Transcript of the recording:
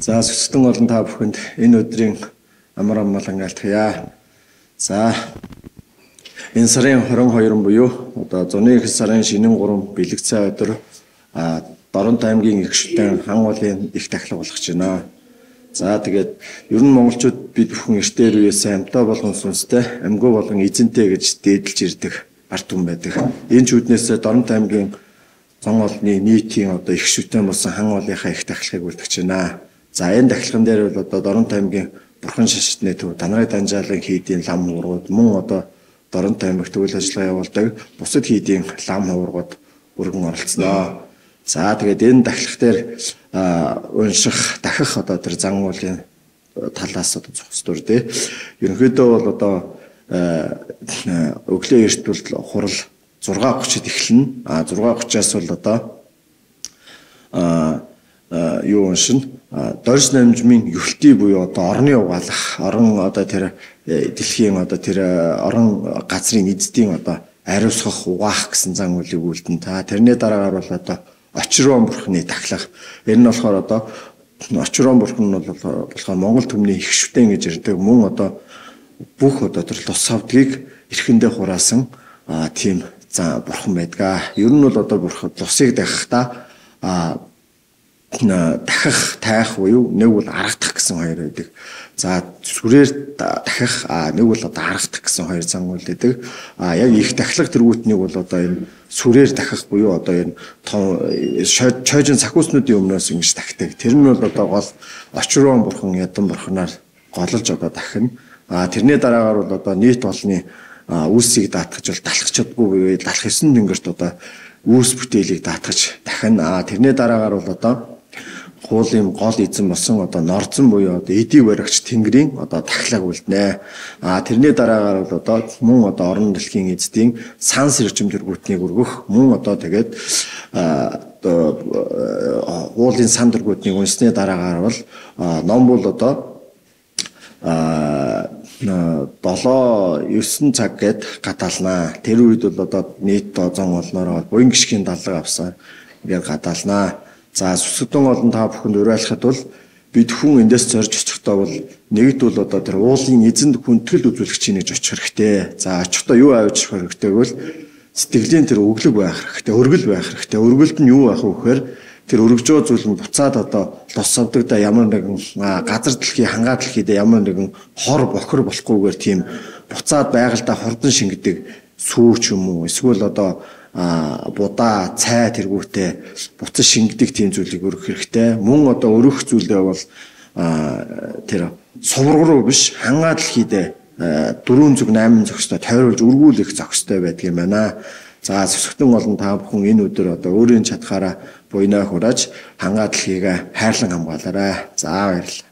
За сүсгэн олон та бүхэнд энэ өдрийн амар амгалан айлтгая. За энэ сарын 22 буюу одоо зуны их сарын шинэн 3 бэлэгцээ өдөр Доронт аймгийн их шүтэн хан уулын их тахлаг болгож байна. За тэгээд ер нь монголчууд бид бүхэн эртээр үеэс амьтаа болгон сүнстэй, амьгүй болгон эзэнтэй гэж дээдэлж ирдэг ард түмэн байдаг. Энэ ч үднээс Доронт аймгийн зон олны нийтийн одоо их шүтэн болсон хан уулынхаа их тахлагыг үлдэж байна. За энэ тахлаган дээр бол одоо Доронт аймгийн бурхан шашны төв Данрай Данжаалын хийдийн лам хуургууд мөн одоо Доронт аймагт үйл ажиллагаа явуулдаг бусад хийдийн лам хуургууд өргөн оролцсноо. За тэгээд энэ тахлах дээр унших дахих одоо тэр зан уулын талаас одоо зохисдур тий. Ерөнхийдөө бол одоо өглөө эрт бол хурал 6:30-д эхэлнэ. 6:30-аас бол одоо юу уншина? Дорж намжмын юхлтий буюу одоо орны угаалах, орон одоо тэр дэлхийн одоо тэр орон газрын эзэдийн одоо ариусгах, угаах гэсэн зан үйлийг үлдэн. Та тэрний дараагаар бол одоо очрон бурхны тахлах. Энэ нь болохоор одоо очрон бурхан нь болохоор Монгол түмний их шүтэн гэж ирдэг. Мөн одоо бүх одоо тэр тус савдгийг эрхэндээ хураасан тийм за бурхан байдаг. Ер нь бол одоо бурхан тусыг дахихдаа дахих тайх буюу нэг бол аргадах гэсэн хоёр байдаг. За сүрээр дахих нэг бол одоо аргадах гэсэн хоёр зан үйл байдаг. Яг их тахлах тэргүүтнийг бол одоо энэ сүрээр дахих буюу одоо энэ чойжин сахиуснуудын өмнөөс ингэж тахдаг. Тэр нь бол одоо гол очрон бурхан ядан бурханаар голж одоо дахина. Тэрний дараагаар бол одоо нийт олны үүсийг даатгаж бол далах чадгүй буюу далах 9 тэнгэрт одоо үүс бүтээлийг даатгаж дахина. Тэрний дараагаар бол одоо хуулийн гол эзэн болсон одоо норзон буюу одоо эдийг баригч тэнгэрийн одоо тахлаг үлднэ. Тэрний дараагаар бол одоо мөн одоо орон дэлхийн эзэдийн сан сэржим дэргүүтнийг өргөх мөн одоо тэгээд хуулийн сан дэргүүтнийг унсны дараагаар бол ном бол одоо 7-9 цаг гээд гадаалнаа. Тэр үед бол одоо нийт зон олнороо буян гიშгийн даллага авсан ингээд гадаалнаа. За сүсгэн олон та бүхэнд уриалахад бол бид хүн эндээс зорж очихдоо бол нэгд бол одоо тэр уулын эзэнд хүндрэл үзүүлэгчийн гэж очих хэрэгтэй. За очихдоо юу авч хэрэгтэй гэвэл сэтгэлийн тэр өглөг байх хэрэгтэй, өргөл байх хэрэгтэй. Өргөлд нь юу байх вэ гэхээр тэр өргөжөө зүйл нь буцаад одоо лос савдагда ямар нэгэн газар дэлхий хангаа дэлхийд ямар нэгэн хор бохор болохгүйгээр тийм буцаад байгальдаа хордон шингэдэг сүүч юм уу эсвэл одоо будаа цай тэргүүтээ буцаж шингэдэг тийм зүйлийг өргөх хэрэгтэй. Мөн одоо өргөх зүйлдээ бол тэр сувраг руу биш хангаа дэлхийд 4 зүг 8 зохистой тойруулж өргүүлэх зохистой байдаг юм байна. За сүсгэн олон та бүхэн энэ өдөр одоо өөрийн чадхаараа буйнаа хурааж хангаа дэлхийг хайрлан хамгаалаарай. За баярлалаа.